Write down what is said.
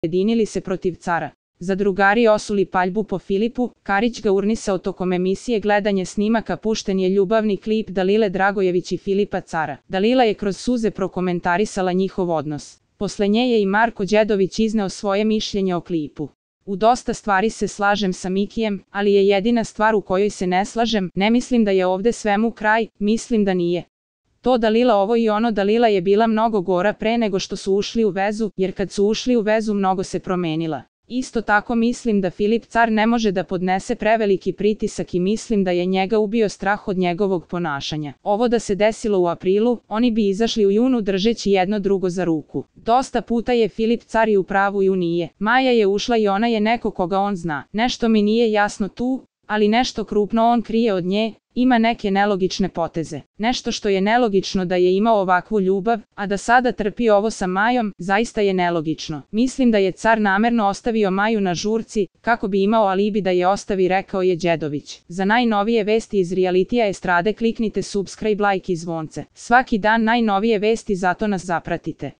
ujedinili se protiv cara. Zadrugari osuli paljbu po Filipu, Karić ga urnisao tokom emisije gledanje snimaka, pušten je ljubavni klip Dalile Dragojević i Filipa Cara. Dalila je kroz suze prokomentarisala njihov odnos. Posle nje je i Marko Đedović izneo svoje mišljenje o klipu. U dosta stvari se slažem sa Mikijem, ali je jedina stvar u kojoj se ne slažem, ne mislim da je ovde svemu kraj, mislim da nije. To Dalila ovo i ono, Dalila je bila mnogo gora pre nego što su ušli u vezu, jer kad su ušli u vezu mnogo se promenila. Isto tako mislim da Filip Car ne može da podnese preveliki pritisak i mislim da je njega ubio strah od njegovog ponašanja. Ovo da se desilo u aprilu, oni bi izašli u junu držeći jedno drugo za ruku. Dosta puta je Filip Car i u pravu i u nije. Maja je ušla i ona je neko koga on zna. Nešto mi nije jasno tu, ali nešto krupno on krije od nje, ima neke nelogične poteze. Nešto što je nelogično da je imao ovakvu ljubav, a da sada trpi ovo sa Majom, zaista je nelogično. Mislim da je Car namerno ostavio Maju na žurci, kako bi imao alibi da je ostavi, rekao je Đedović. Za najnovije vesti iz realitija estrade kliknite subscribe, like i zvonce. Svaki dan najnovije vesti, zato nas zapratite.